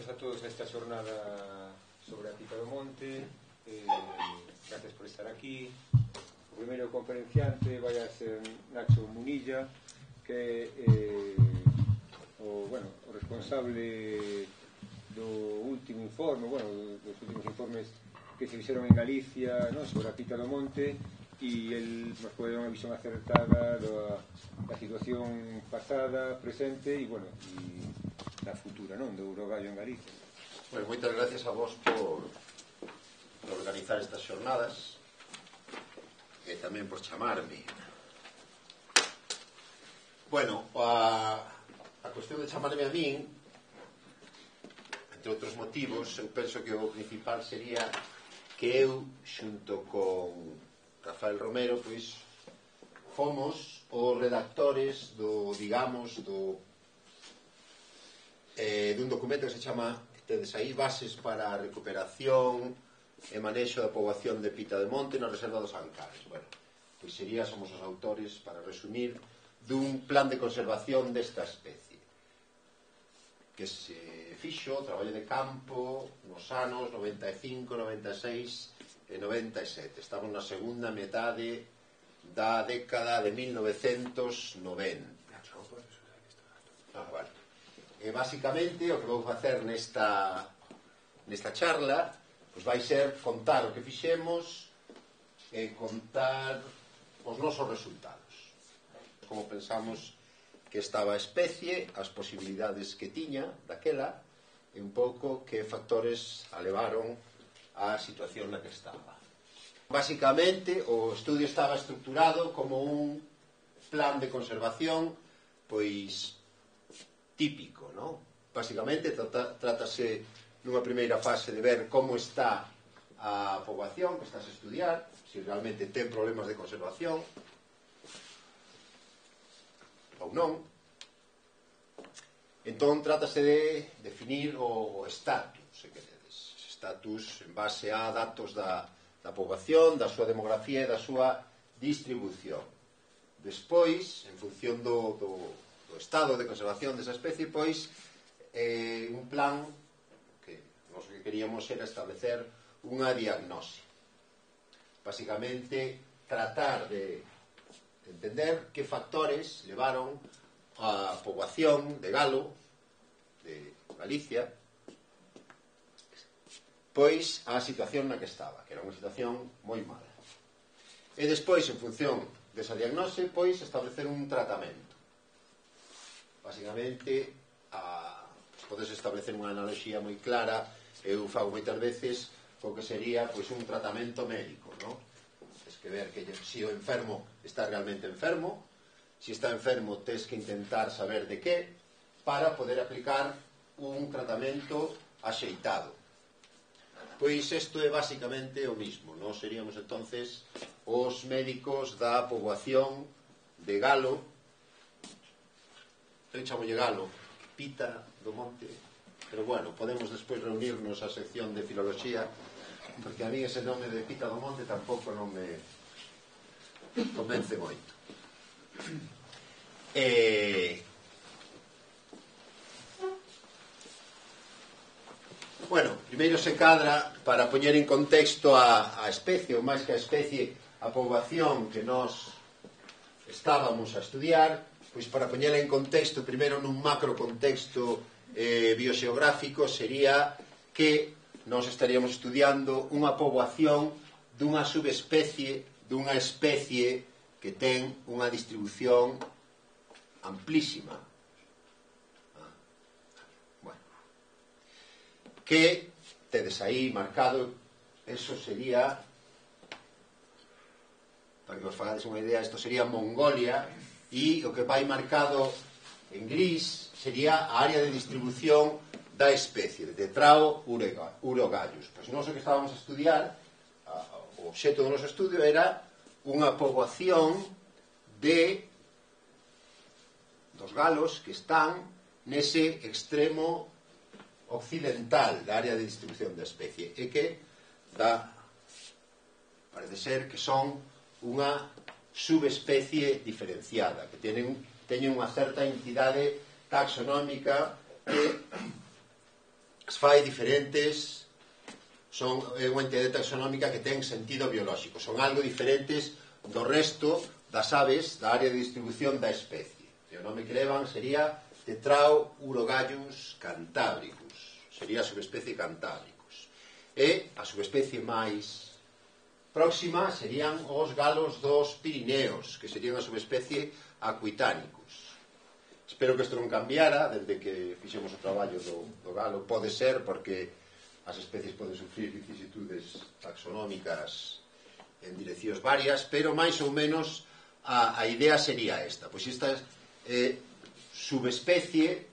benvidos a todos a esta xornada sobre a Pita do Monte. Gracias por estar aquí. O primeiro conferenciante vai a ser Nacho Munilla, que é o responsable do último informe, dos últimos informes que se fixeron en Galicia, sobre a Pita do Monte, e el nos pode dar unha visión acertada da situación pasada, presente e da futura, do Urogallo en Galicia. Bueno, moitas gracias a vos por organizar estas xornadas e tamén por chamarme. Bueno, a cuestión de chamarme a min, entre outros motivos, eu penso que o principal sería que eu, xunto con Rafael Romero, pois fomos os redactores dun documento que se chama, tedes aí, Bases para a recuperación e manexo da poboación de Pita de Monte na Reserva dos Ancares. Bueno, pois somos os autores, para resumir, dun plan de conservación desta especie que se fixo, traballo de campo, nos anos 95, 96 e 97. Estamos na segunda metade da década de 1990. E basicamente o que vou facer nesta charla vai ser contar o que fixemos e contar os nosos resultados, como pensamos que estaba a especie, as posibilidades que tiña daquela e un pouco que factores a levaron á situación na que estaba. Basicamente, o estudio estaba estructurado como un plan de conservación pois típico, non? Basicamente, trátase nunha primeira fase de ver como está a poboación que estás a estudiar, se realmente ten problemas de conservación ou non. Entón, trátase de definir o estatus, se queredes. Estatus en base a datos da poboación, da súa demografía e da súa distribución. Despois, en función do estado de conservación desa especie, pois, un plan que nós que queríamos era establecer unha diagnose. Basicamente, tratar de entender que factores levaron a poboación de galo de Galicia pois a situación na que estaba, que era unha situación moi mala. E despois, en función desa diagnose, pois establecer un tratamento. Basicamente, podes establecer unha analoxía moi clara, eu fago moitas veces co que sería pois un tratamento médico, non? Tens que ver que se o enfermo está realmente enfermo, se está enfermo tens que intentar saber de que para poder aplicar un tratamento axeitado. Pois isto é basicamente o mismo. Nós seríamos entonces os médicos da poboación de galo. Eu chamolle galo, Pita do Monte, pero bueno, podemos despois reunirnos a sección de filoloxía, porque a mí ese nome de Pita do Monte tampouco non me convence moito. Bueno, primeiro se cadra para poñer en contexto a especie, ou máis que a especie, a poboación que nós estábamos a estudiar, pois para poñela en contexto, primeiro nun macro contexto bioxeográfico, sería que nós estaríamos estudiando unha poboación dunha subespecie, dunha especie que ten unha distribución amplísima. Que tedes aí marcado, eso sería, para que vos fagades unha idea, isto sería Mongolia, e o que vai marcado en gris sería a área de distribución da especie, de Tetrao urogallus. Pois nós o que estábamos a estudiar, o obxecto do noso estudio era unha poboación dos galos que están nese extremo occidental da área de distribución da especie e que parece ser que son unha subespecie diferenciada, que teñen unha certa entidade taxonómica que as fai diferentes, son unha entidade taxonómica que ten sentido biolóxico, son algo diferentes do resto das aves da área de distribución da especie. O nome que levan sería Tetraurogallus cantabricus, sería a subespecie cantábricus. E a subespecie máis próxima serían os galos dos Pirineos, que serían a subespecie Aquitanicus. Espero que isto non cambiara desde que fixemos o traballo do galo. Pode ser porque as especies poden sufrir vicisitudes taxonómicas en direccións varias, pero máis ou menos a idea sería esta. Pois esta subespecie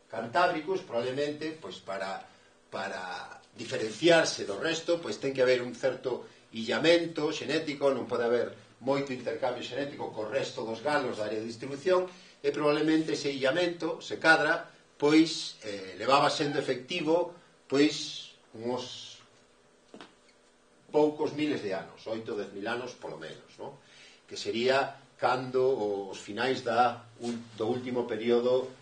Cantábricus probablemente pois para diferenciarse do resto pois ten que haber un certo illamento xenético, non pode haber moito intercambio xenético co resto dos galos da área de distribución, e probablemente ese illamento, se cadra, pois levaba sendo efectivo pois uns poucos miles de anos, 8 ou 10.000 anos polo menos, no? Que sería cando os finais do último período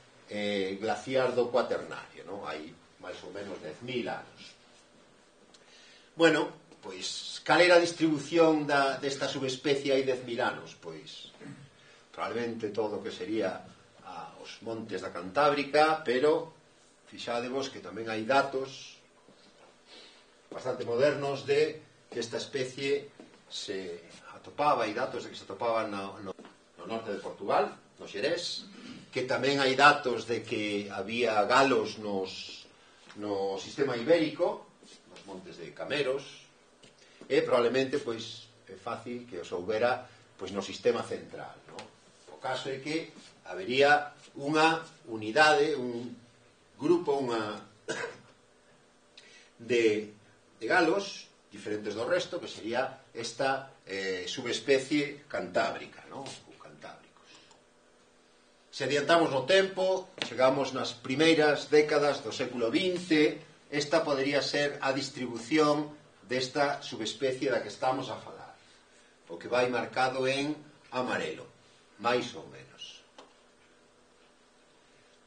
glaciar do Cuaternario, no? Hai máis ou menos 10.000 anos. Bueno, pois cal era a distribución desta subespecie hai 10.000 anos? Pois probablemente todo o que sería os montes da Cantábrica, pero fixadevos que tamén hai datos bastante modernos de que esta especie se atopaba, hai datos de que se atopaba no norte de Portugal, no Xerés, que tamén hai datos de que había galos no sistema ibérico, nos montes de Cameros, e probablemente pois é fácil que os houbera pois no sistema central, no? O caso é que habería unha unidade, un grupo, de galos diferentes do resto, que sería esta subespecie cantábrica, no? Ou cantábricos. Se adiantamos no tempo, chegamos nas primeiras décadas do século XX, esta podería ser a distribución desta subespecie da que estamos a falar, o que vai marcado en amarelo, máis ou menos.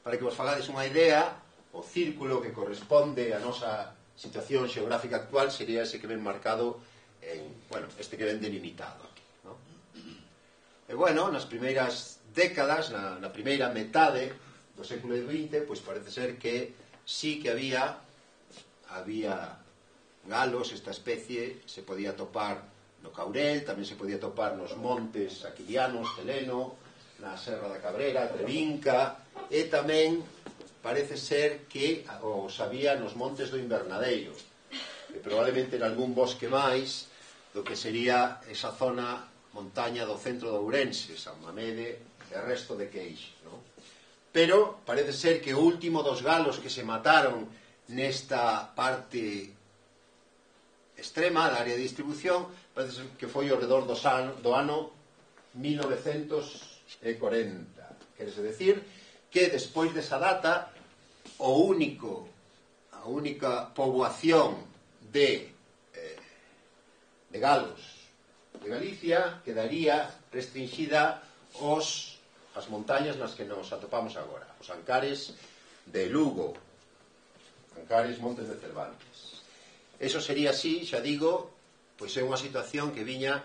Para que vos fagades unha idea, o círculo que corresponde á nosa situación xeográfica actual sería ese que ven marcado en, bueno, este que ven delimitado aquí, ¿no? E bueno, nas primeiras décadas, na primeira metade do século XX, pois parece ser que sí que había galos, esta especie se podía topar no Caurel, tamén se podía topar nos montes aquilianos, Teleno, na Serra da Cabrera, Trevinca, e tamén parece ser que os había nos montes do Invernadeiro, e probablemente en algún bosque máis do que sería esa zona montaña do centro de Ourense, San Mamede e o resto de Queixe, no? Pero parece ser que o último dos galos que se mataron nesta parte extrema da área de distribución parece ser que foi ao redor do ano 1940. Querese decir que despois desa data a única poboación de galos de Galicia quedaría restringida as montañas nas que nos atopamos agora, os Ancares de Lugo, Ancares Montes de Cervantes. Eso sería así, xa digo, pois é unha situación que viña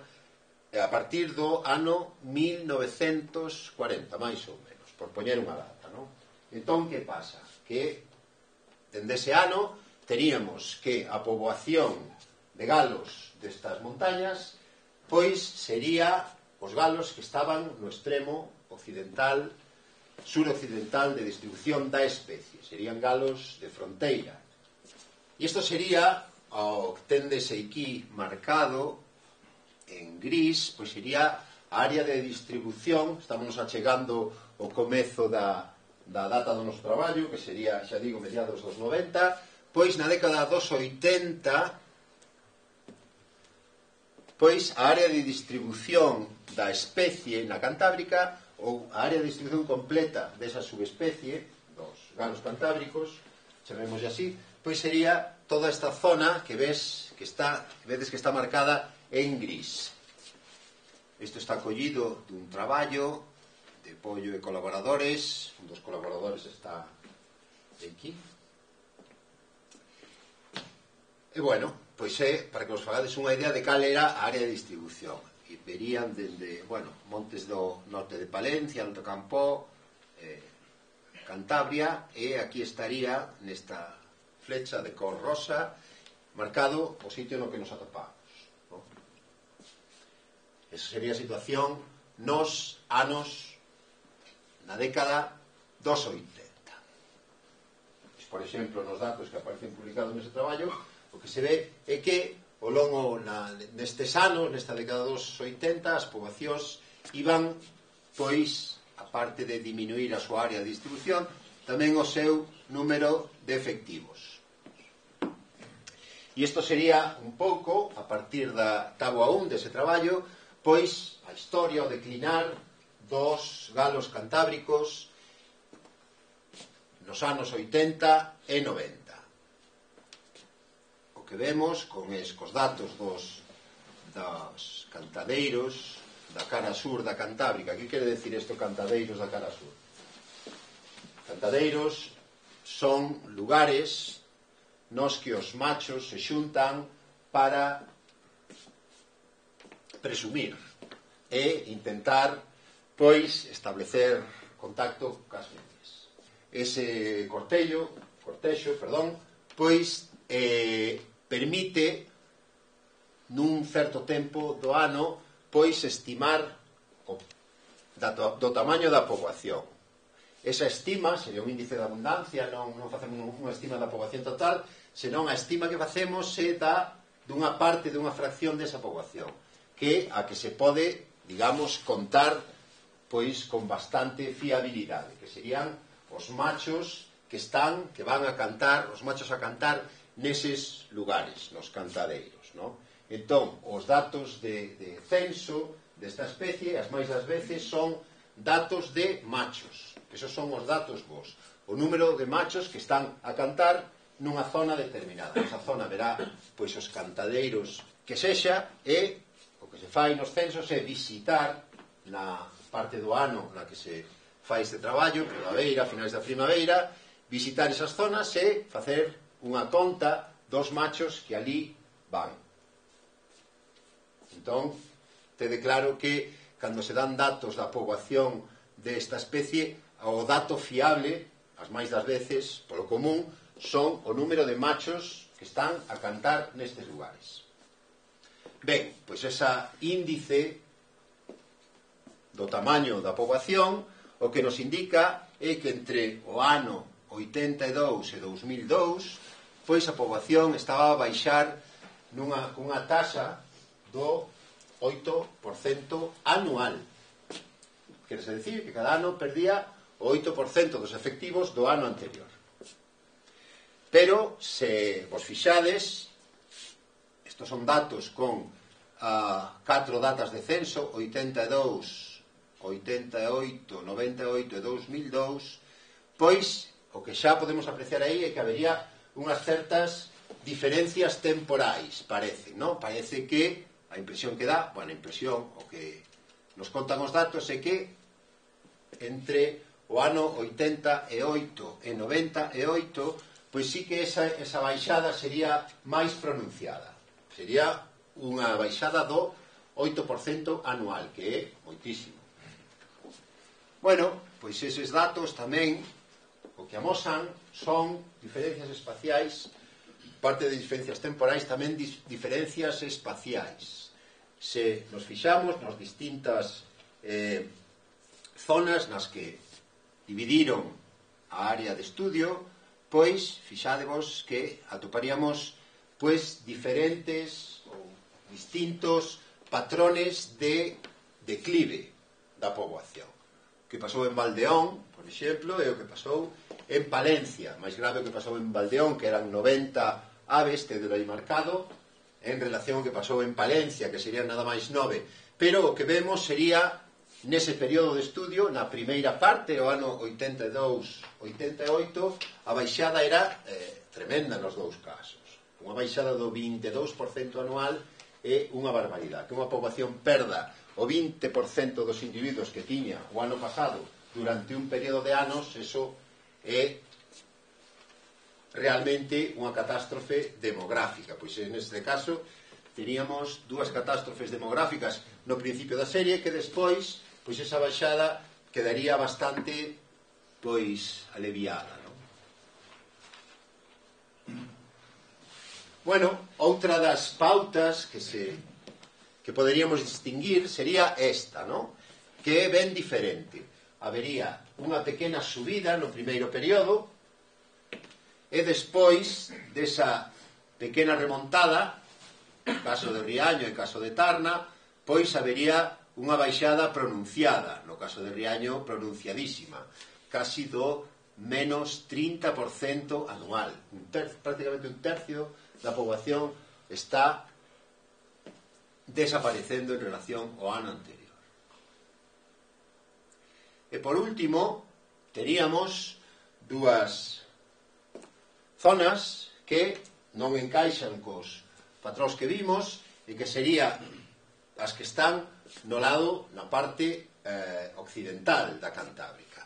a partir do ano 1940, máis ou menos, por poñer unha data, non? Entón, que pasa? Que dende ese ano teríamos que a poboación de galos destas montañas pois sería os galos que estaban no extremo occidental, suroccidental de distribución da especie, serían galos de fronteira. E isto sería o que tendes aquí marcado en gris, pois sería a área de distribución. Estamos achegando o comezo da data do noso traballo, que sería, xa digo, mediados dos 90, pois na década dos 80, pois a área de distribución da especie na Cantábrica, ou a área de distribución completa desa subespecie dos galos cantábricos, chamémoslle así, pois sería toda esta zona que vedes que está marcada en gris. Isto está collido dun traballo de Pollo e colaboradores. Un dos colaboradores está aquí. E, bueno, pois é, para que vos fagades unha idea de cal era a área de distribución. E verían dende, bueno, montes do norte de Palencia, Alto Campó, Cantabria, e aquí estaría, nesta flecha de cor rosa, marcado o sitio no que nos atopamos, no? Esa sería a situación nos anos, na década dos 80. Por exemplo, nos datos que aparecen publicados nese traballo, o que se ve é que ao longo nestes anos, nesta década dos 80, as poboacións iban, pois, a parte de diminuir a súa área de distribución, tamén o seu número de efectivos. E isto sería un pouco, a partir da táboa 1 dese traballo, pois a historia, o declinar dos galos cantábricos nos anos 80 e 90. O que vemos con escos datos dos cantadeiros da cara sur da Cantábrica. Que quere decir isto, cantadeiros da cara sur? Cantadeiros son lugares nos que os machos se xuntan para presumir e intentar, pois, establecer contacto cas femias. Ese cortexo, pois, permite nun certo tempo do ano, pois, estimar do tamaño da poboación. Esa estima sería un índice de abundancia, non facemos unha estima da poboación total, senón a estima que facemos é dunha parte, dunha fracción desa poboación, que a que se pode, digamos, contar, pois, con bastante fiabilidade, que serían os machos que van a cantar, os machos a cantar neses lugares, nos cantadeiros, non? Entón, os datos de censo desta especie, as máis das veces, son datos de machos. Esos son os datos vos. O número de machos que están a cantar nunha zona determinada. Esa zona verá, pois, os cantadeiros que sexa, e o que se fai nos censos é visitar na parte do ano na que se fai este traballo, primavera, finais da primavera, visitar esas zonas e facer unha conta dos machos que ali van. Entón, tede claro que cando se dan datos da poboación desta especie, o dato fiable, as máis das veces, polo común, son o número de machos que están a cantar nestes lugares. Ben, pois esa índice do tamaño da poboación o que nos indica é que entre o ano 82 e 2002, pois a poboación estaba a baixar cunha taxa do 8% anual. Quer decir que cada ano perdía o 8% dos efectivos do ano anterior. Pero, se vos fixades, estos son datos con 4 datas de censo, 82, 88, 98 e 2002, pois o que xa podemos apreciar aí é que habería unhas certas diferencias temporais, parece, non? Parece que a impresión que dá, bueno, a impresión, o que nos contan os datos é que entre o ano 88 e 98, pois sí que esa baixada sería máis pronunciada. Sería unha baixada do 8% anual, que é moitísimo. Bueno, pois eses datos tamén o que amosan son diferencias espaciais, parte de diferencias temporais, tamén diferencias espaciais. Se nos fixamos nas distintas zonas nas que dividiron a área de estudio, pois fixádevos que atoparíamos pois diferentes ou distintos patrones de declive da poboación. O que pasou en Valdeón, por exemplo, é o que pasou en Palencia. Máis grave o que pasou en Valdeón, que eran 90 aves, tedelo aí marcado, en relación ao que pasou en Palencia, que serían nada máis 9. Pero o que vemos sería, nese período de estudio, na primeira parte, o ano 82-88, a baixada era tremenda nos dous casos. Unha baixada do 22% anual é unha barbaridade. Que unha poboación perda o 20% dos individuos que tiña o ano pasado durante un período de anos, eso é realmente unha catástrofe demográfica. Pois neste caso teríamos dúas catástrofes demográficas no principio da serie que despois, pois esa baixada quedaría bastante pois aliviada, non? Bueno, outra das pautas que poderíamos distinguir sería esta, non? Que é ben diferente. Habería unha pequena subida no primeiro período e despois desa pequena remontada, caso de Riaño e caso de Tarna, pois habería unha baixada pronunciada, no caso de Riaño pronunciadísima, casi do menos 30% anual. Prácticamente un tercio da poboación está desaparecendo en relación ao ano anterior. E por último, teríamos dúas zonas que non encaixan cos patróns que vimos e que serían as que están no lado, na parte occidental da Cantábrica.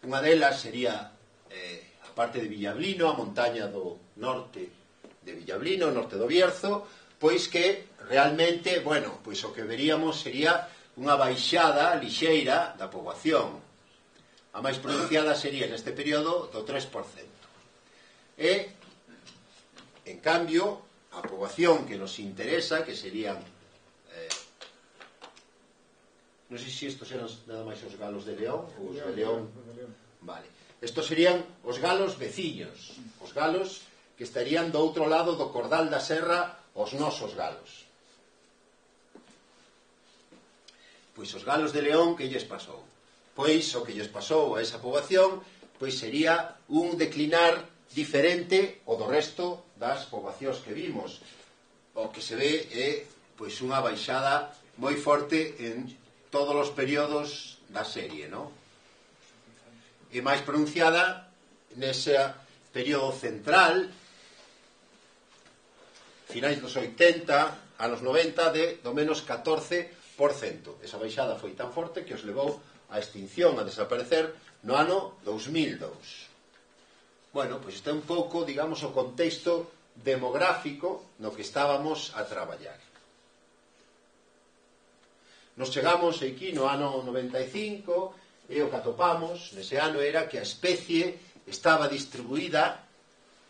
Unha delas sería a parte de Villablino, a montaña do norte de Villablino, norte do Bierzo, pois que realmente, bueno, pois o que veríamos sería unha baixada lixeira da poboación. A máis pronunciada sería neste período do 3%. E, en cambio, a poboación que nos interesa, que serían non sei se estos eran nada máis os galos de León ou os de León. Vale. Estos serían os galos veciños, os galos que estarían do outro lado do cordal da serra, os nosos galos. Pois os galos de León, que lles pasou? Pois o que lles pasou a esa poboación pois sería un declinar diferente ao do resto das poboacións que vimos. O que se ve é pois unha baixada moi forte en todos os períodos da serie, non? E máis pronunciada nese período central, finais dos 80, anos 90, do menos 14%. Esa baixada foi tan forte que os levou a extinción, a desaparecer no ano 2002. Bueno, pois está un pouco, digamos, o contexto demográfico no que estábamos a traballar. Nos chegamos aquí no ano 95 e o que atopamos nese ano era que a especie estaba distribuída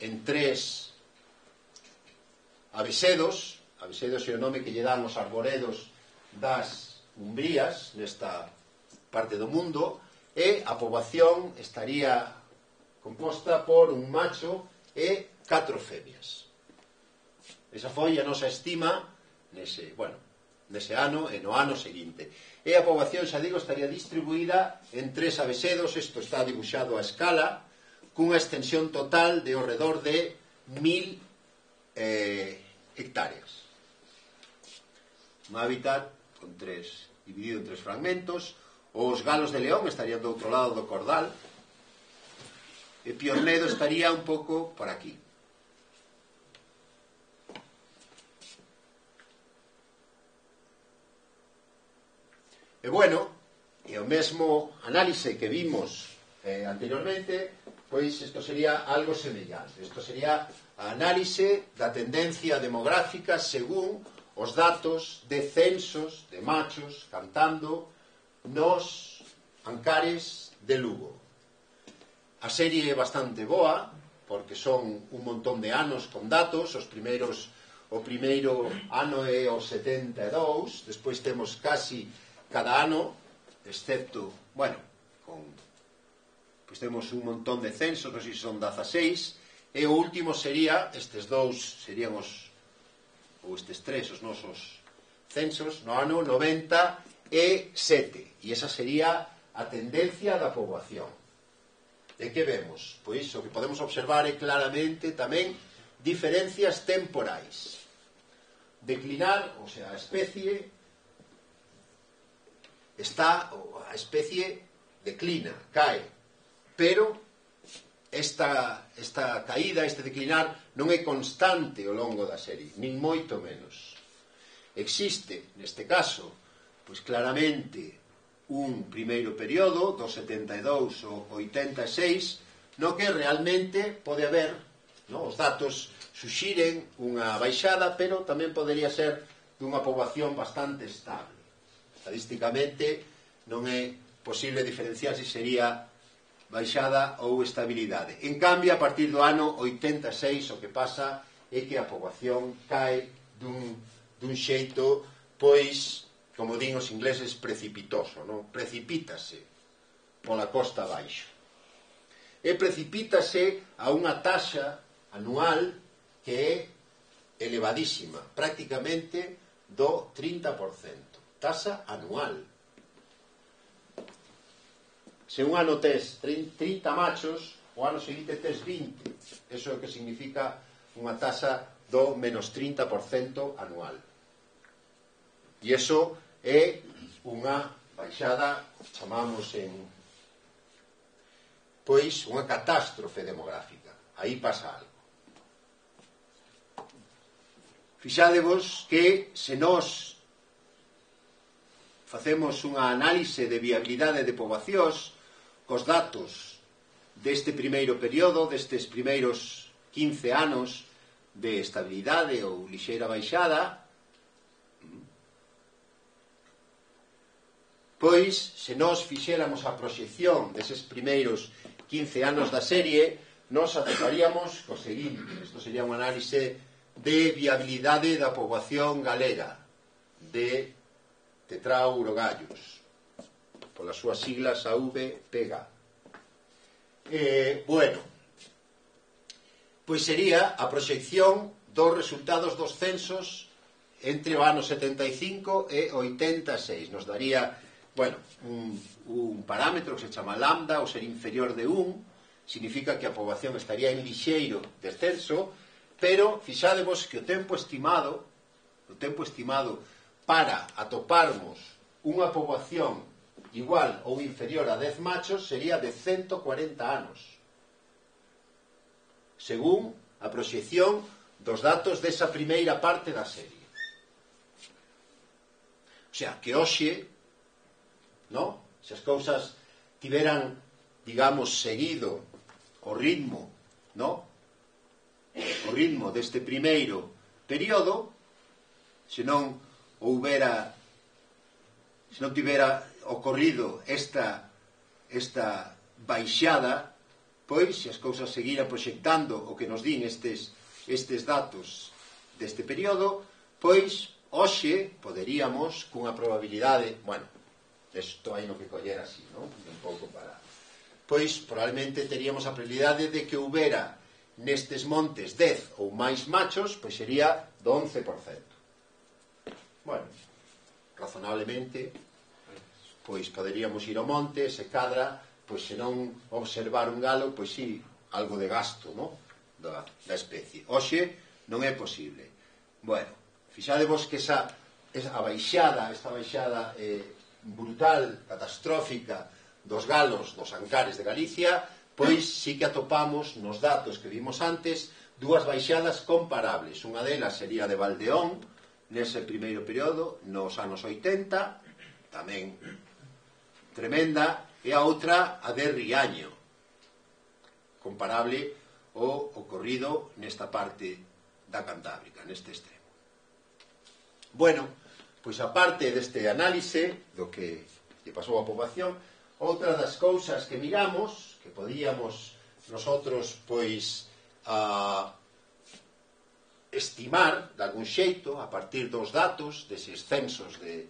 en 3 avesedos. Avesedos é o nome que lle dan os arboredos das Umbrías nesta parte do mundo, e a poboación estaría composta por un macho e 4 femias. Esa foi a nosa estima nese ano e no ano seguinte. E a poboación, xa digo, estaría distribuída en 3 avesedos. Isto está dibuixado a escala, cunha extensión total de ao redor de 1000 hectáreas. Un hábitat dividido en 3 fragmentos. Os galos de León estarían do outro lado do cordal e Piornedo estaría un pouco por aquí. E bueno, e o mesmo análise que vimos anteriormente, pois isto sería algo semellante. Isto sería a análise da tendencia demográfica según os datos de censos de machos cantando nos ancares de Lugo. A serie é bastante boa, porque son un montón de anos con datos. O primeiro ano é o 72, despois temos casi cada ano, excepto, pois temos un montón de censos, non sei se son 16, e o último sería, estes tres, os nosos censos, no ano 97, e esa sería a tendencia da poboación. E que vemos? Pois o que podemos observar é claramente tamén diferencias temporais. Declinar, o sea, a especie declina, cae, pero esta caída, este declinar non é constante ao longo da serie, nin moito menos. Existe, neste caso, pois claramente un primeiro período do 72 ao 86 no que realmente pode haber non? Os datos suxiren unha baixada, pero tamén podería ser dunha poboación bastante estable. Estadísticamente non é posible diferenciar se sería baixada ou estabilidade. En cambio, a partir do ano 86 o que pasa é que a poboación cae dun xeito, pois, como din os ingleses, precipitoso, non? Precipítase pola costa abaixo. E precipítase a unha taxa anual que é elevadísima, prácticamente do 30%. Taxa anual. Se un ano tes 30 machos, o ano seguinte tes 20. Eso é o que significa unha taxa do menos 30% anual. E iso é unha baixada, chamamos pois, unha catástrofe demográfica. Aí pasa algo. Fixádevos que se nós facemos unha análise de viabilidade de poboacións cos datos deste primeiro período, destes primeiros 15 anos de estabilidade ou lixeira baixada, pois, se nós fixéramos a proxección deses primeiros 15 anos da serie, nos atoparíamos co seguinte. Isto sería unha análise de viabilidade da poboación galega de Tetrao-Urogallos, polas súas siglas AVPG. Bueno, pois sería a proxección dos resultados dos censos entre o ano 75 e 86. Nos daría, bueno, un parámetro que se chama lambda, ou ser inferior de 1, significa que a poboación estaría en lixeiro descenso, pero fixádevos que o tempo estimado para atoparmos unha poboación igual ou inferior a 10 machos sería de 140 anos, según a proxección dos datos desa primeira parte da serie. O sea, que hoxe, no? Se as cousas tiveran, digamos, seguido o ritmo, no? O ritmo deste primeiro período, se non tivera ocorrido esta baixada, pois, se as cousas seguiran proxectando o que nos din estes datos deste período, pois, hoxe poderíamos, cunha probabilidade, bueno, isto hai no que coller así, non? Un pouco para... Pois, probablemente teríamos a probabilidade de que houbera nestes montes 10 ou máis machos, pois sería do 11%. Bueno, razonablemente, pois poderíamos ir ao monte, se cadra, pois se non observar un galo, pois sí, algo de gasto, non? Da especie. Hoxe non é posible. Bueno, fixadevos que esta baixada brutal, catastrófica dos galos dos Ancares de Galicia, pois sí que atopamos nos datos que vimos antes dúas baixadas comparables. Unha delas sería de Valdeón, nese primeiro período, nos anos 80, tamén tremenda, e a outra a de Riaño, comparable ao ocorrido nesta parte da Cantábrica, neste extremo. Bueno, pois aparte deste análise do que lle pasou á poboación, outra das cousas que miramos, que podíamos nosotros pois estimar de algún xeito a partir dos datos deses censos de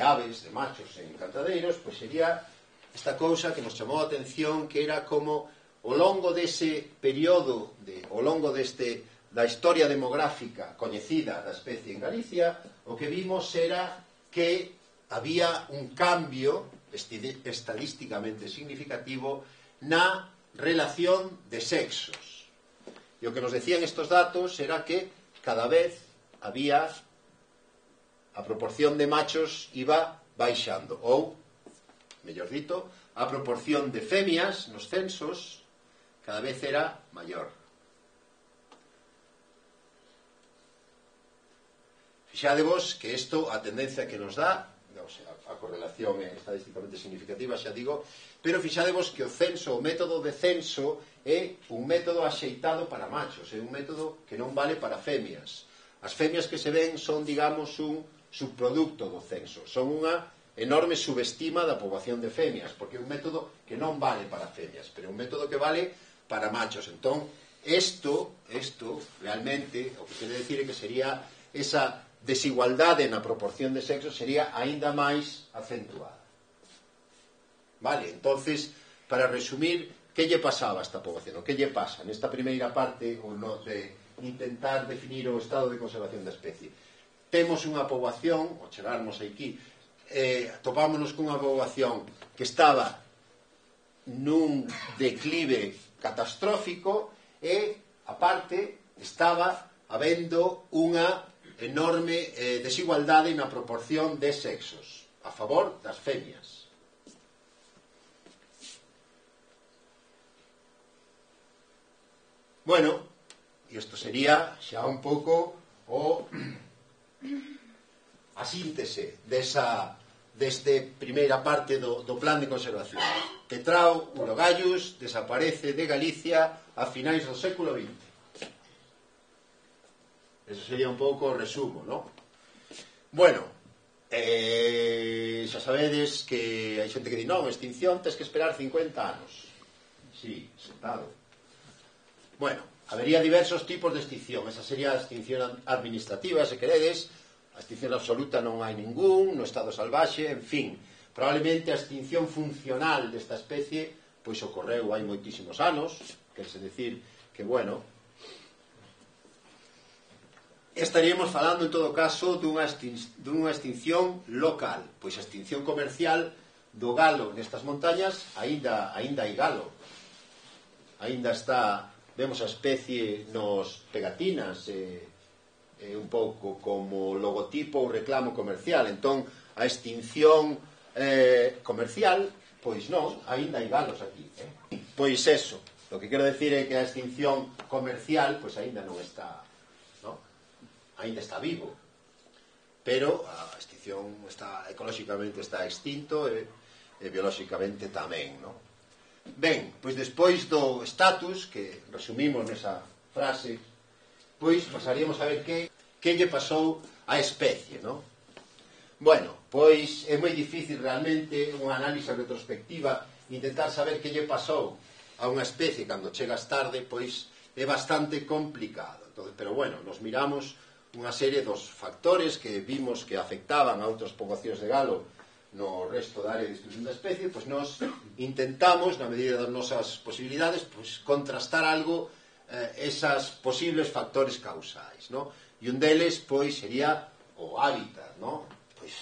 aves, de machos en cantadeiros, pois sería esta cousa que nos chamou a atención, que era como ao longo dese período, ao longo da historia demográfica coñecida da especie en Galicia, o que vimos era que había un cambio estadísticamente significativo na relación de sexos. E o que nos decían estos datos era que cada vez había a proporción de machos iba baixando, ou, mellor dito, a proporción de femias nos censos cada vez era maior. Fixadevos que isto, a tendencia que nos dá, a correlación é estadísticamente significativa, xa digo, pero fixadevos que o censo, o método de censo é un método axeitado para machos, é un método que non vale para femias. As femias que se ven son, digamos, un subproducto do censo, son unha enorme subestima da poboación de femias, porque é un método que non vale para femias, pero é un método que vale para machos. Entón, isto realmente, o que quere decir é que sería esa desigualdade na proporción de sexo sería aínda máis acentuada. Vale, entonces, para resumir, que lle pasaba a esta poboación? O que lle pasa nesta primeira parte de intentar definir o estado de conservación da especie? Temos unha poboación, ao chegarmos aquí, topámonos cunha poboación que estaba nun declive catastrófico e, aparte, estaba habendo unha enorme desigualdade na proporción de sexos a favor das femias. Bueno, isto sería xa un pouco a síntese deste primeira parte do plan de conservación. Petrao urogallus desaparece de Galicia a finais do século XX. Eso sería un pouco o resumo, non? Bueno, xa sabedes que hai xente que di non, extinción tes que esperar 50 anos. Sí, sentado. Bueno, habería diversos tipos de extinción. Esa sería a extinción administrativa, se queredes. A extinción absoluta non hai ningún, no estado salvaxe, en fin. Probablemente a extinción funcional desta especie pois ocorreu hai moitísimos anos, querse decir que, bueno, estaríamos falando en todo caso dunha extinción local, pois a extinción comercial do galo nestas montañas aínda hai galo, aínda está, vemos a especie nos pegatinas, un pouco como logotipo ou reclamo comercial. Entón a extinción comercial, pois non, aínda hai galos aquí, pois eso, o que quero decir é que a extinción comercial pois aínda non está, non? Aínda está vivo, pero a extinción está, ecolóxicamente está extinto e biolóxicamente tamén, non? Ben, pois despois do status que resumimos nesa frase, pois pasaríamos a ver que lle pasou á especie, non? Bueno, pois é moi difícil realmente unha análise retrospectiva, intentar saber que lle pasou a unha especie cando chegas tarde, pois é bastante complicado. Entonces, pero bueno, nos miramos unha serie dos factores que vimos que afectaban a outras poboacións de galo no resto da área de distribución da especie, pois nos intentamos, na medida das nosas posibilidades, pois contrastar algo esas posibles factores causais, non? E un deles, pois, sería o hábitat, non? Pois,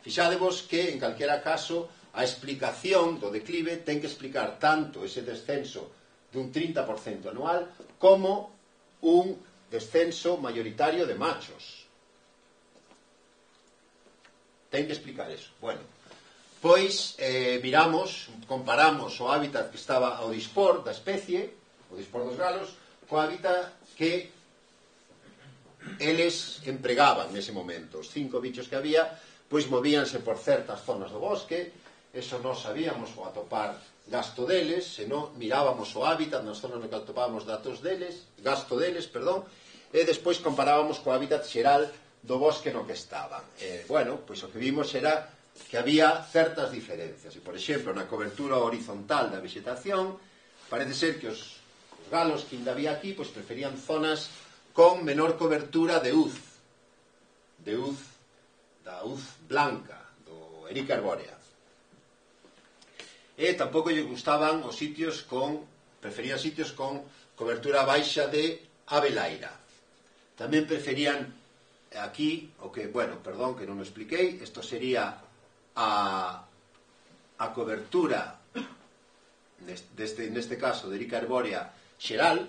fixadevos que, en calquera caso, a explicación do declive ten que explicar tanto ese descenso dun 30% anual como un descenso mayoritario de machos. Ten que explicar eso. Bueno, pois, miramos, comparamos o hábitat que estaba ao dispor da especie, o dispor dos galos, co hábitat que eles empregaban nese momento. Os 5 bichos que había, pois movíanse por certas zonas do bosque, eso non sabíamos o atopar gasto deles, senón mirábamos o hábitat nas zonas no que atopábamos gasto deles, e despois comparábamos co hábitat xeral do bosque no que estaban. Bueno, pois o que vimos era que había certas diferencias. E, por exemplo, na cobertura horizontal da vegetación, parece ser que os galos que ainda había aquí pois preferían zonas con menor cobertura de uz, da uz blanca, do Erica arbórea. E tampouco lle gustaban os sitios preferían sitios con cobertura baixa de abelaira. Tamén preferían aquí, o que, bueno, perdón, que non o expliquei, isto sería a cobertura neste caso de Erica arbórea xeral,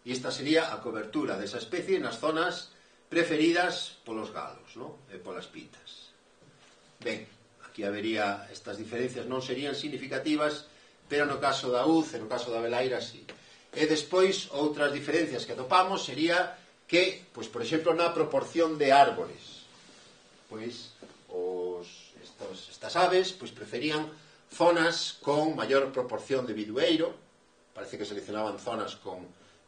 e esta sería a cobertura desa especie nas zonas preferidas polos galos, non? E polas pitas. Ben, aquí habería estas diferencias, non serían significativas, pero no caso da uz e no caso da abelaira sí. E despois outras diferencias que atopamos sería que, pois, por exemplo, na proporción de árbores, pois os estas aves pois preferían zonas con maior proporción de bidueiro, parece que seleccionaban zonas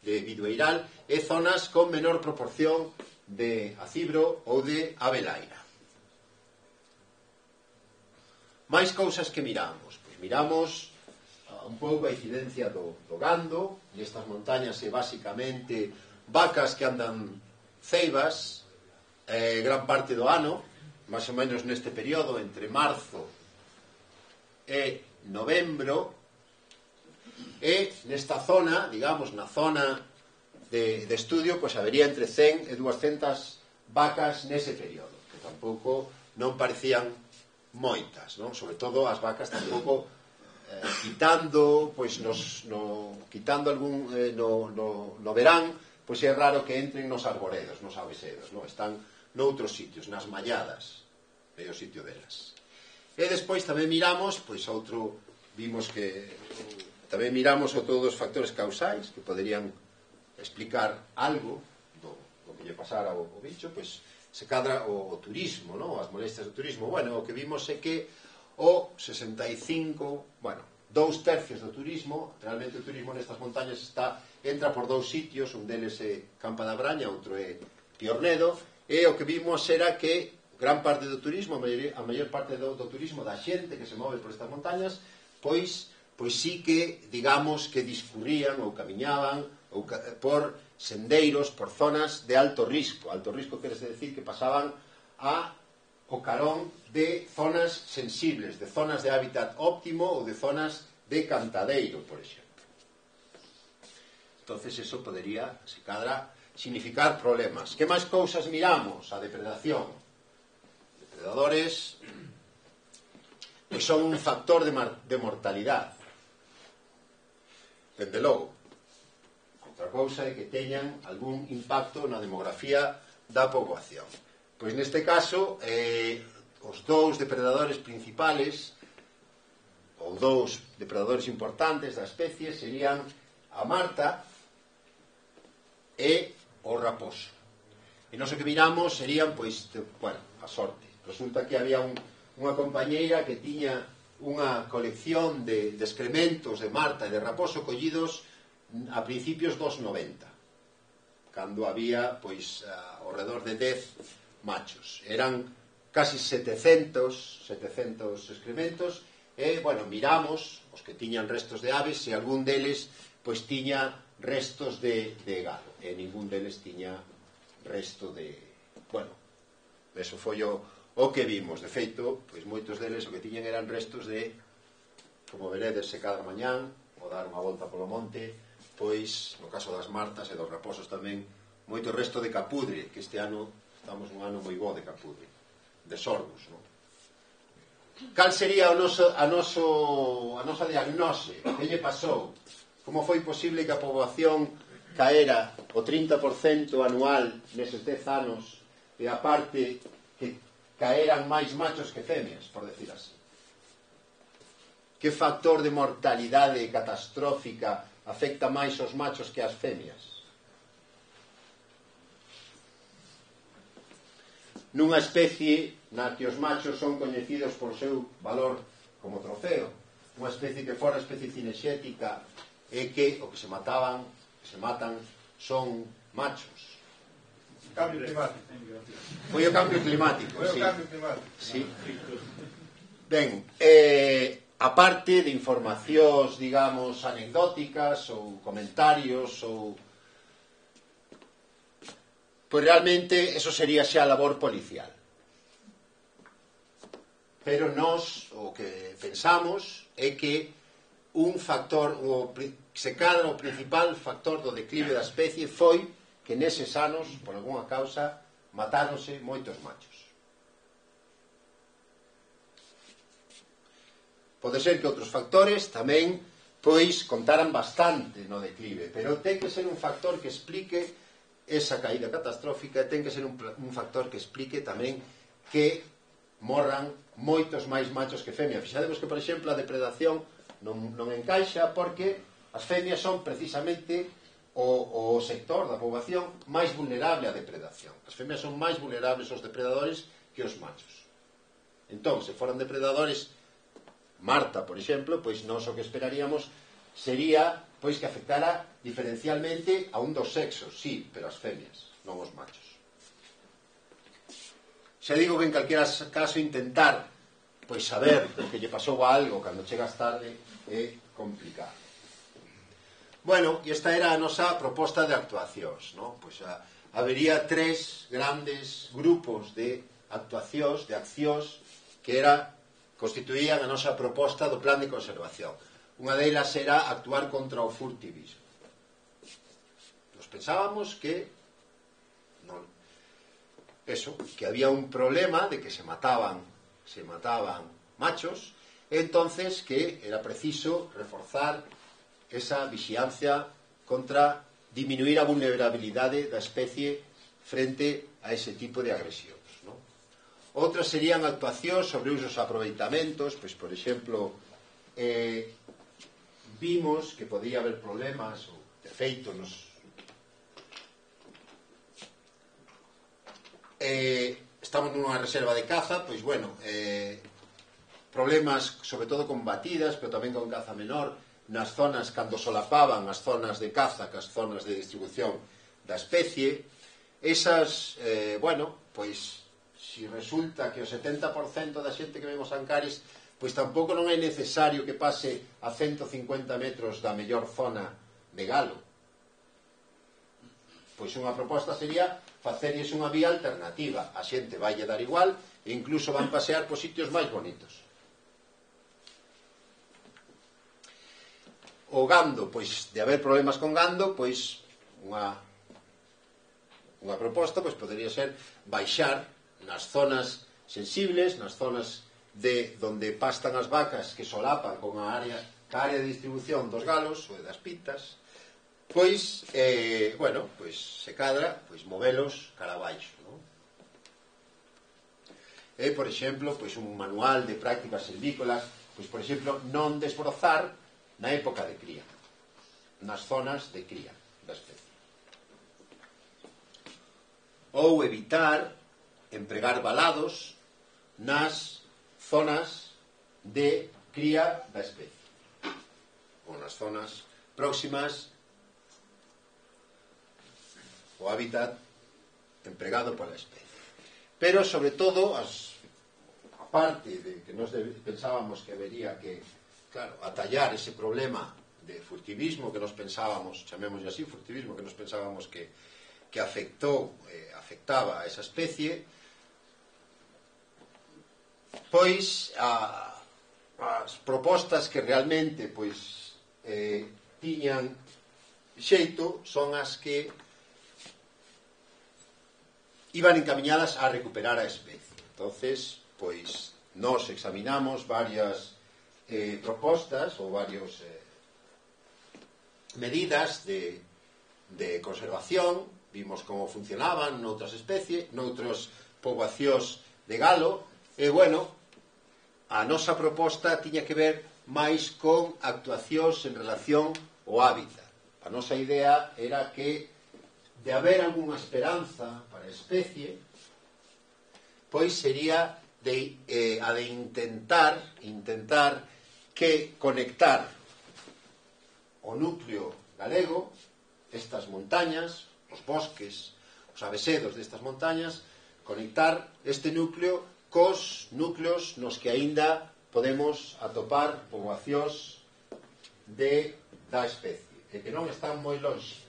de bidueiral, e zonas con menor proporción de acibro ou de abelaira. Máis cousas que miramos. Pois miramos un pouco a incidencia do gando. Nestas montañas é basicamente vacas que andan ceibas gran parte do ano, máis ou menos neste período, entre marzo e novembro, e nesta zona, digamos, na zona de estudio, pois habería entre 100 e 200 vacas nese período, que tampouco non parecían moitas, non? Sobre todo as vacas tampouco quitando, pois quitando algún no verán, pois é raro que entren nos arboredos, nos avesedos, non? Están noutros sitios, nas malladas, é o sitio delas. E despois tamén miramos, pois vimos que tamén miramos o todos os factores causais que poderían explicar algo do que lle pasara ao bicho, pois se cadra o turismo, non? As molestias do turismo. Bueno, o que vimos é que o 65, bueno, 2/3 do turismo, realmente o turismo nestas montañas entra por dous sitios, un deles é Campa da Braña, outro é Piornedo, e o que vimos era que gran parte do turismo, a maior parte do turismo da xente que se move por estas montañas, pois sí que, digamos, que discurrían ou camiñaban por sendeiros, por zonas de alto risco. Alto risco quere decir que pasaban o carón de zonas sensibles, de zonas de hábitat óptimo ou de zonas de cantadeiro, por exemplo. Entonces eso podería, se cadra, significar problemas. Que máis cousas miramos? A depredación. Depredadores que son un factor de mortalidade. Dende logo. Outra cousa é que teñan algún impacto na demografía da poboación. Pois neste caso, os dous depredadores principales, ou dous depredadores importantes da especie, serían a marta e o raposo. E nós o que miramos serían, pois, a sorte. Resulta que había unha compañeira que tiña unha colección de excrementos de marta e de raposo collidos a principios dos 90, cando había, pois, ao redor de 10 machos. Eran casi 700 excrementos e, bueno, miramos os que tiñan restos de aves e algún deles, pois, tiña restos de galo e ningún deles tiña resto de... Bueno, eso foi o que vimos. De feito, pois moitos deles o que tiñan eran restos de, como veredes se cada mañán, ou dar unha volta polo monte, pois, no caso das martas e dos raposos tamén, moito resto de capudre, que este ano estamos nun ano moi bo de capudre, de sorgos, non? Cal sería a nosa diagnose? Que lle pasou? Como foi posible que a poboación caera o 30% anual neses 10 anos e a parte que caeran máis machos que femias, por decir así? Que factor de mortalidade catastrófica afecta máis os machos que as femias? Nunha especie na que os machos son coñecidos por seu valor como trofeo, unha especie que fora especie cinexética e que o que se matan son machos. Cambio climático. Foi o cambio climático, sí. Sí. Ben, a parte de informacións, digamos, anecdóticas ou comentarios ou... Pois realmente eso sería xa labor policial. Pero nós o que pensamos é que un factor, se cadra o principal factor do declive da especie foi que neses anos, por algunha causa, matáronse moitos machos. Pode ser que outros factores tamén, pois, contaran bastante no declive, pero ten que ser un factor que explique esa caída catastrófica e ten que ser un factor que explique tamén que morran moitos máis machos que femias. Fixademos que, por exemplo, a depredación non encaixa porque as femias son precisamente o sector da poboación máis vulnerable á depredación. As femias son máis vulnerables aos depredadores que os machos. Entón, se foran depredadores, Marta, por exemplo, pois nós o que esperaríamos sería pois que afectara diferencialmente a un dos sexos, sí, pero as femias, non os machos. Xa digo que en calquera caso intentar pois saber o que lle pasou a algo cando chegas tarde é complicado. Bueno, e esta era a nosa proposta de actuacións, non? Pois habería 3 grandes grupos de actuacións, de accións que constituían a nosa proposta do plan de conservación. Unha delas era actuar contra o furtivismo. Nos pensábamos que que había un problema de que se mataban machos, e entonces que era preciso reforzar esa vixiancia contra diminuir a vulnerabilidade da especie frente a ese tipo de agresións, non? Outras serían actuacións sobre usos aproveitamentos, pois, por exemplo, vimos que podía haber problemas, ou de feito estamos nunha reserva de caza, pois bueno, problemas sobre todo con batidas, pero tamén con caza menor nas zonas cando solapaban as zonas de caza que as zonas de distribución da especie. Esas, bueno, pois si resulta que o 70% da xente que vemos Ancares, pois tampouco non é necesario que pase a 150 metros da mellor zona de galo. Pois unha proposta sería facerlles unha vía alternativa. A xente vai lle dar igual e incluso van pasear por sitios máis bonitos. O gando, pois de haber problemas con gando, pois unha proposta pois podería ser baixar nas zonas sensibles, nas zonas de onde pastan as vacas que solapan con a área de distribución dos galos ou das pitas, pois, bueno, pois se cadra, pois movelos cara abaixo, non? E, por exemplo, pois un manual de prácticas silvícolas, pois, por exemplo, non desbrozar na época de cría, nas zonas de cría da especie. Ou evitar empregar valados nas zonas de cría da especie, ou nas zonas próximas o hábitat empregado pola especie. Pero, sobre todo, aparte de que nos pensábamos que habería que, claro, atallar ese problema de furtivismo que nos pensábamos, chamémoslle así, furtivismo que nos pensábamos que afectaba a esa especie, pois as propostas que realmente pois tiñan xeito son as que iban encaminhadas a recuperar a especie. Entonces, pois nos examinamos varias propostas ou varios medidas de conservación, vimos como funcionaban noutras especies, noutras poboacións de galo, e, bueno, a nosa proposta tiña que ver máis con actuacións en relación ao hábitat. A nosa idea era que, de haber algunha esperanza para a especie, pois sería a de intentar que conectar o núcleo galego, estas montañas, os bosques, os avesedos destas montañas, conectar este núcleo cos núcleos nos que aínda podemos atopar poboacións da especie, e que non están moi longe.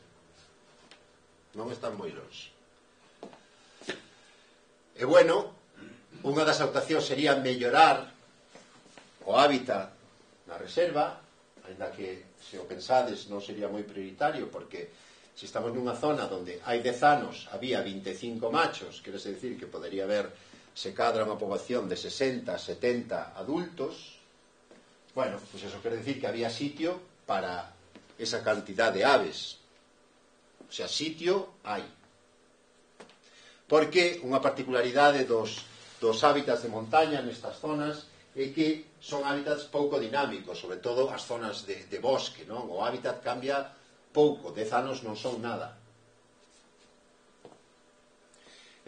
E, bueno, unha das actuacións sería mellorar o hábitat na reserva, ainda que, se o pensades, non sería moi prioritario, porque se estamos nunha zona onde hai 10 anos había 25 machos, quere decir que podería haber, se cadra unha poboación de 60, 70 adultos, bueno, pois eso quere decir que había sitio para esa cantidad de aves. O sea, sitio hai. Porque unha particularidade dos hábitats de montaña nestas zonas é que son hábitats pouco dinámicos, sobre todo as zonas de bosque, non? O hábitat cambia pouco, 10 anos non son nada.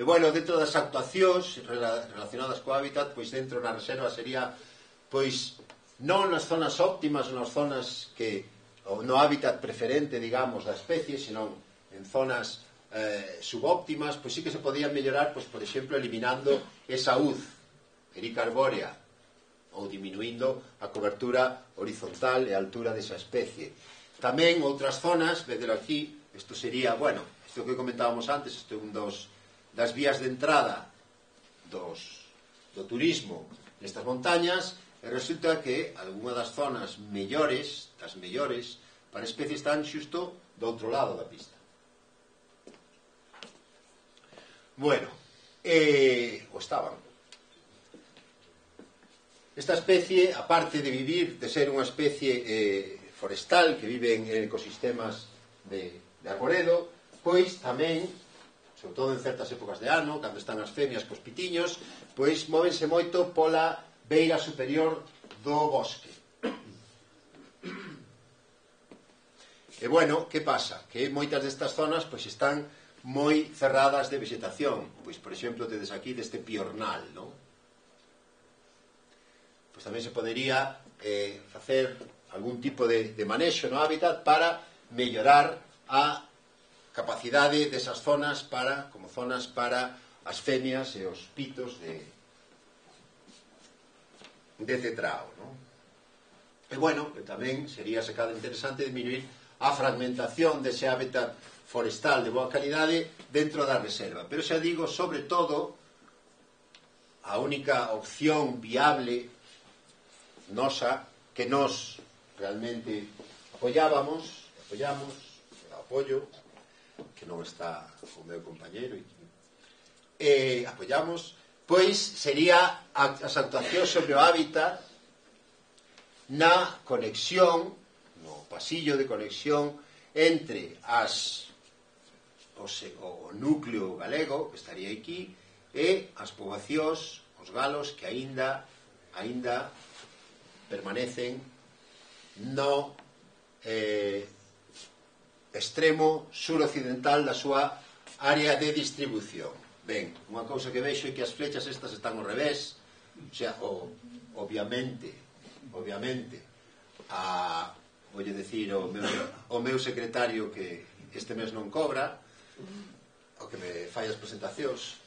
E, bueno, dentro das actuacións relacionadas co hábitat, pois dentro na reserva sería, pois, non nas zonas óptimas, nas zonas que, ou no hábitat preferente, digamos, da especie, senón en zonas subóptimas, pois sí que se podían mellorar, pois, por exemplo, eliminando esa uz ericarbórea ou diminuindo a cobertura horizontal e a altura desa especie. Tamén outras zonas, vedelo aquí, isto sería, bueno, isto que comentábamos antes, isto é un das vías de entrada do turismo nestas montañas, e resulta que algunha das zonas mellores, das mellores para a especie, están xusto do outro lado da pista. Bueno, o estaban. Esta especie, aparte de vivir, de ser unha especie forestal que vive en ecosistemas de arboredo, pois tamén, sobre todo en certas épocas de ano, cando están as femias cos pitiños, pois móvense moito pola beira superior do bosque. E, bueno, que pasa? Que moitas destas zonas pois están moi cerradas de vegetación. Pois, por exemplo, tedes aquí deste piornal, non? Pois tamén se podería facer algún tipo de manexo no hábitat para mellorar a capacidade desas zonas como zonas para as femias e os pitos de cetrao, non? E, bueno, tamén sería se cada interesante disminuir a fragmentación dese hábitat forestal de boa calidade dentro da reserva. Pero xa digo, sobre todo, a única opción viable nosa, que nos realmente apoyamos, apoio, que non está o meu compañeiro, apoyamos, pois sería as actuacións sobre o hábitat na conexión, no pasillo de conexión entre o núcleo galego, que estaría aquí, e as poboacións, os galos que aínda permanecen no extremo suroccidental da súa área de distribución. Ben, unha cousa que vexo é que as flechas estas están ao revés, o sea, obviamente, voulle decir o meu secretario que este mes non cobra, o que me fai as presentacións,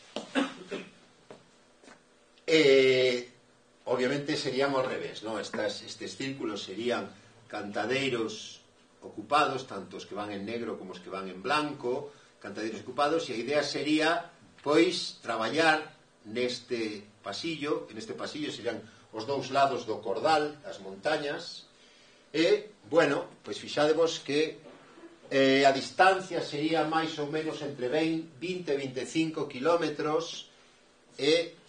obviamente serían ao revés, non? Estes círculos serían cantadeiros ocupados, tanto os que van en negro como os que van en blanco, cantadeiros ocupados, e a idea sería, pois, traballar neste pasillo serían os dous lados do cordal, as montañas, e, bueno, pois fixadevos que a distancia sería máis ou menos entre 20 e 25 kilómetros, e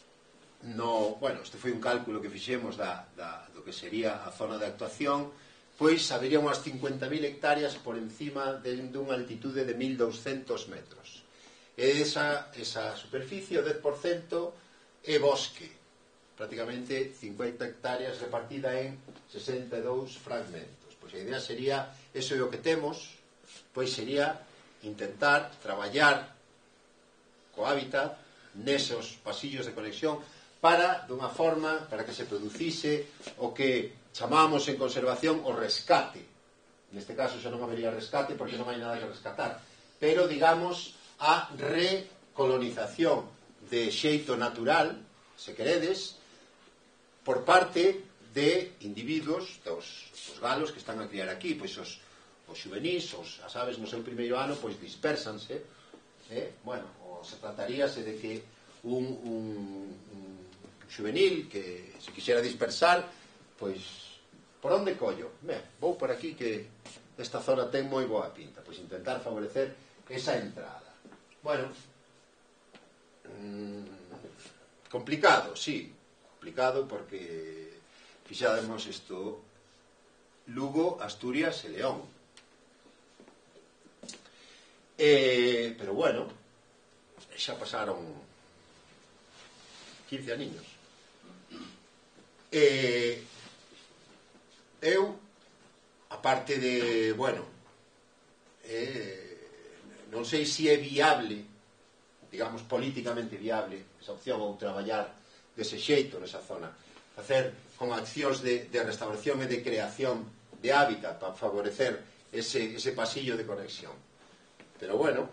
bueno, este foi un cálculo que fixemos do que sería a zona de actuación, pois habería unhas 50.000 hectáreas por encima dunha altitude de 1.200 metros. E esa superficie, o 10%, é bosque, prácticamente 50 hectáreas repartida en 62 fragmentos. Pois a idea sería, eso é o que temos, pois sería intentar traballar co hábitat nesos pasillos de conexión dunha forma para que se producise o que chamamos en conservación o rescate. Neste caso xa non habería rescate porque non hai nada que rescatar, pero, digamos, a recolonización de xeito natural, se queredes, por parte de individuos, dos galos que están a criar aquí, pois os xuvenís, as aves no seu primeiro ano, pois dispersanse, bueno, se trataríase de que un xuvenil que se quixera dispersar, pois, por onde collo? Vou por aquí que esta zona ten moi boa pinta, pois intentar favorecer esa entrada. Bueno, complicado, sí, complicado porque fixademos isto Lugo, Asturias e León. Pero bueno, xa pasaron 15 aniños. Eu, aparte de, bueno, non sei se é viable digamos, políticamente viable esa opción ou traballar dese xeito nesa zona, facer con accións de restauración e de creación de hábitat para favorecer ese pasillo de conexión. Pero bueno,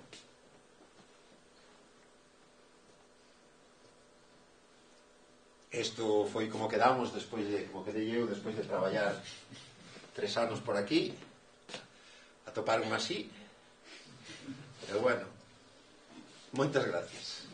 isto foi como quedamos despois de, como quedei eu despois de traballar 3 anos por aquí, atoparme así. Pero bueno, moitas gracias.